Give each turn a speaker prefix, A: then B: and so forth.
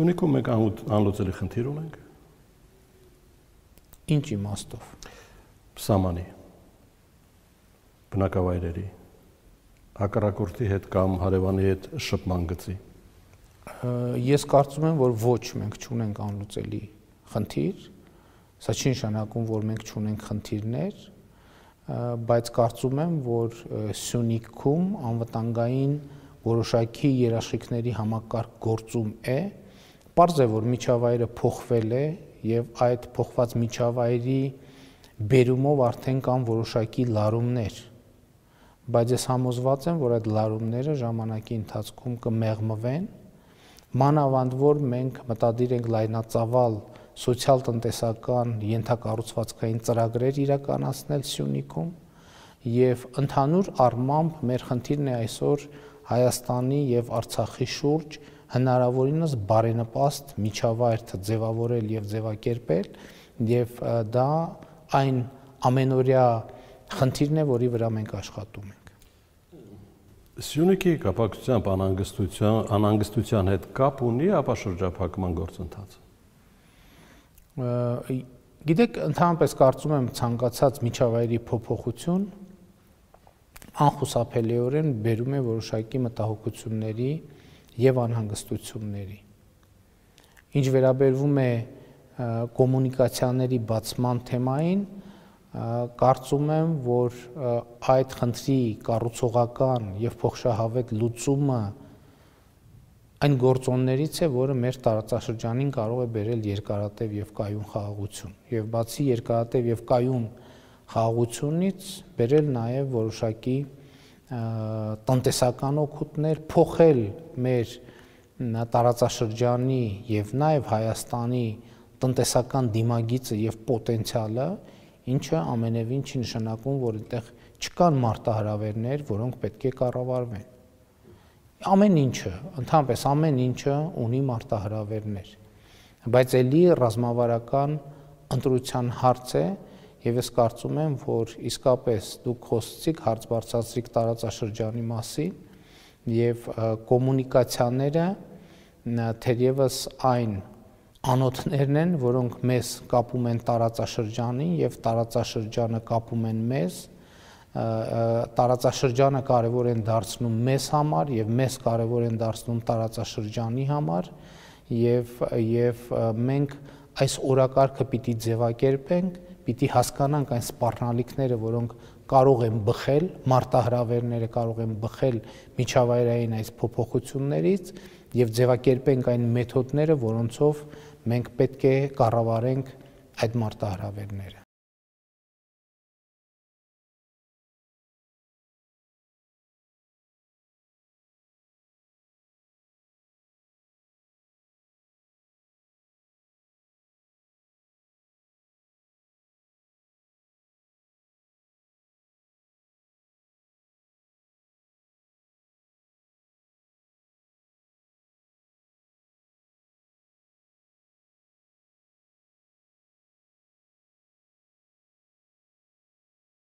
A: Սյունիքում մենք անլուծելի խնդիր ունենք։
B: Ինչ իմաստով։
A: Սամանի, բնակավայրերի, հակառակորդի հետ կամ հարևանի հետ շփման գծի։
B: Ես կարծում եմ, որ ոչ, մենք չունենք անլուծելի խնդիր, սա չի նշանակում, որ մենք չունենք խնդիրներ, բայց կարծում եմ, որ Սյունիքում անվտանգային որոշակի երաշխիքների համակարգ գործում է, պարզ է, որ միջավայրը փոխվել է եւ այդ փոխված միջավայրի բերումով արդեն կան որոշակի լարումներ, բայց ես համոզված եմ, որ այդ լարումները ժամանակի ընթացքում կմեղմվեն, մանավանդ որ մենք մտադիր ենք լայնածավալ սոցիալ-տնտեսական ենթակառուցվածքային ծրագրեր իրականացնել Սյունիքում եւ ընդհանուր առմամբ մեր խնդիրն է այսօր Հայաստանի եւ Արցախի շուրջ հնարավորինս բարենպաստ միջավայր ձևավորել եւ ձևակերպել եւ դա այն ամենօրյա խնդիրն է, որի վրա մենք աշխատում ենք։
A: Սյունիքի կապակցությամբ անհանգստության հետ կապ ունի ապաշրջափակման գործընթացը։
B: Գիտեք, ընդհանրապես կարծում եմ ցանկացած միջավայրի փոփոխություն անխուսափելիորեն բերում է որոշակի մտահոգությունների եւ անհանգստությունների։ Ինչ վերաբերվում է կոմունիկացիաների բացման թեմային, կարծում եմ, որ այդ խնդրի կառուցողական եւ փոխշահավետ լուծումը այն գործոններից է, որը մեր տարածաշրջանին կարող է բերել երկարատև եւ կայուն խաղաղություն եւ բացի երկարատև եւ կայուն խաղաղությունից բերել նաեւ որոշակի տնտեսական օգուտներ, փոխել մեր տարածաշրջանի եւ նաեւ Հայաստանի տնտեսական դիմագիծը եւ պոտենցիալը, ինչը ամենևին չի նշանակում, որ այդտեղ չկան մարտահրավերներ, որոնք պետք է կառավարվեն։ Ամեն ինչը, ընդհանրապես ամեն ինչը ունի մարտահրավերներ, բայց ելի ռազմավարական ընտրության հարց է եւ ես կարծում եմ, որ իսկապես դուք խոսեցիք, հարց բարձրացրիք տարածաշրջանի մասին եւ կոմունիկացիաները թերևս այն անոթներն են, որոնք մեզ կապում են տարածաշրջանին եւ տարածաշրջանը կապում են մեզ, տարածաշրջանը կարևոր են դարձնում մեզ համար եւ մեզ կարևոր են դարձնում տարածաշրջանի համար եւ մենք այս օրակարգը պիտի ձևակերպենք, պիտի հասկանանք այն սպառնալիքները, որոնք կարող են բխել, մարտահրավերները կարող են բխել միջավայրային այս փոփոխություններից եւ ձևակերպենք այն մեթոդները, որոնցով մենք պետք է կառավարենք այդ մարտահրավերները։